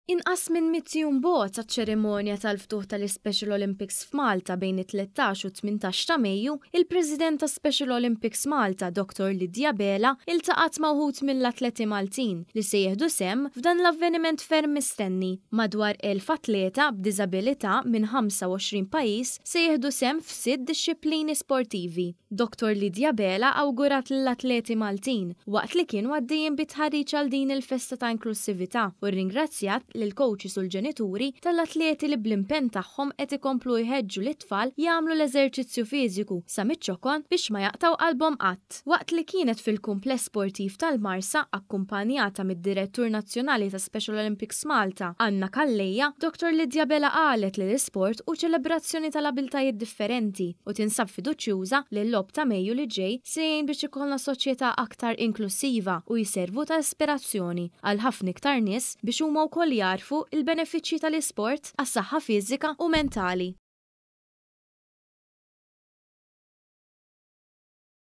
Inqas minn 100 jum bogħod għaċ-ċerimonja tal-ftuħ tal-Special Olympics f'Malta bejn it-13 u 18 ta' Mejju, il-President ta' Special Olympics Malta, Dr. Lydia Bela, iltaqgħet ma' wħud mill-atleti Maltin li se jieħdu sehem f'dan l-avveniment ferm mistenni. Madwar 1000 atleta b'diżabilità minn 25 pajjiż se jieħdu sehem f'sitt dixxiplini sportivi. Dr. Lydia Bela awgurat lill-atleti Maltin waqt li kienu għaddejjin bit-tħarriġ għal din il-festa ta' inklussività u rringrazzjat lill-coaches u l-ġenituri tal-atleti li bl-impenn tagħhom qed ikomplu jħeġġu lit-tfal jagħmlu l-eżerċizzju fiżiku sa miċ-ċokon biex ma jaqtgħu qalbhom qatt. Waqt li kienet fil-kumpless sportiv tal-Marsa akkumpanjata mid-Direttur Nazzjonali ta' Special Olympics Malta, Anna Calleja, Dr. Lydia Bela qalet li l-isport hu ċelebrazzjoni tal-abiltajiet differenti u tinsab fiduċjuża li l-Logħob ta' Mejju li ġej se jgħin biex ikollna soċjetà aktar inklussiva u jservu ta' ispirazzjoni għal ħafna iktar nies biex huma wkoll jagħrfu l-benefiċċji tal-isport għas-saħħa fiżika u mentali.